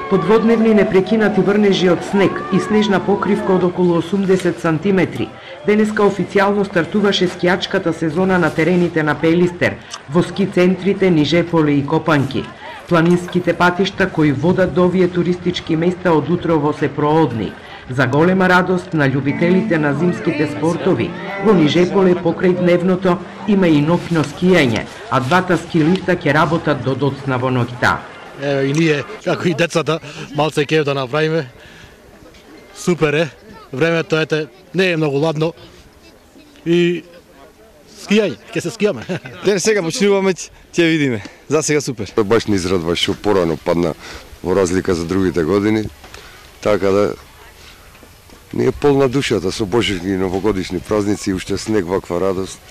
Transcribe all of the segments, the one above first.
Подводневни непрекинати врнежи од снег и снежна покривка од околу 80 сантиметри. Денеска официјално стартуваше скијачката сезона на терените на Пелистер, во ски центрите Нижеполе и Копанки. Планинските патишта кои водат до овие туристички места од утрово се проодни. За голема радост на љубителите на зимските спортови, во Нижеполе покрај дневното има и ноќно скијање, а двата ски лифта ќе работат до доцна во ноќта. И ние, како и децата, малце кев да направиме. Супер е. Времето не е многу ладно. И скијање, ќе се скијаме. Ден сега почнуваме, ќе видиме. За сега супер. Баш не израдва што порано падна во разлика за другите години. Така да не е полна душата со божични и новогодишни празници и уште снег, ваква радост.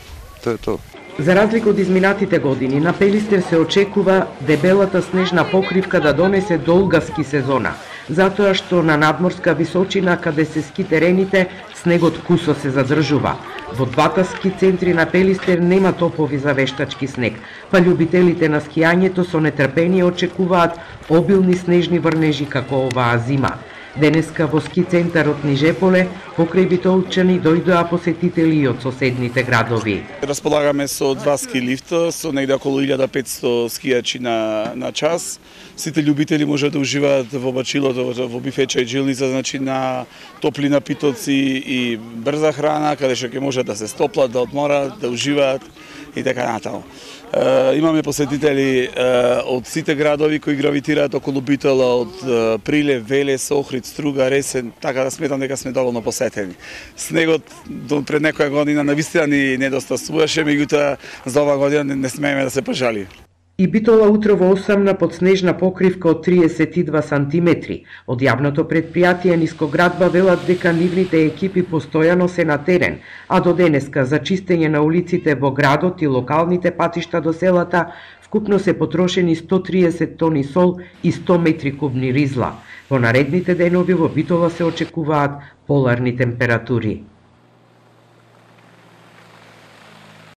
Тоа е тоа. За разлика од изминатите години, на Пелистер се очекува дебелата снежна покривка да донесе долга ски сезона, затоа што на надморска височина каде се ски терените, снегот кусо се задржува. Во двата ски центри на Пелистер нема топови за вештачки снег, па љубителите на скијањето со нетрпение очекуваат обилни снежни врнежи како оваа зима. Денеска во ски центарот Нижеполе покрај Битолчани дојдоа посетители и од соседните градови. Располагаме со два ски лифта, со негде околу 1500 скијачи на час. Сите љубители може да уживаат во бачилото, во бифеча и джилница, значи на топли напитоци и брза храна, каде што ќе може да се стоплат, да одморат, да уживаат и така натаму. Имаме посетители од сите градови кои гравитираат околу Битола, од Прилеп, Велес, Охрид, Струга, Ресен, така да сметам дека сме доволно посетени. Снегот пред некоја година навистина ни недостасуваше, меѓутоа за оваа година не смееме да се пожали. И Битола утрово осамна под снежна покривка од 32 сантиметри. Од јавното предпријатие Нискоградба велат дека нивните екипи постојано се на терен, а до денеска за чистење на улиците во градот и локалните патишта до селата вкупно се потрошени 130 тони сол и 100 метри кубни ризла. Во наредните денови во Битола се очекуваат поларни температури.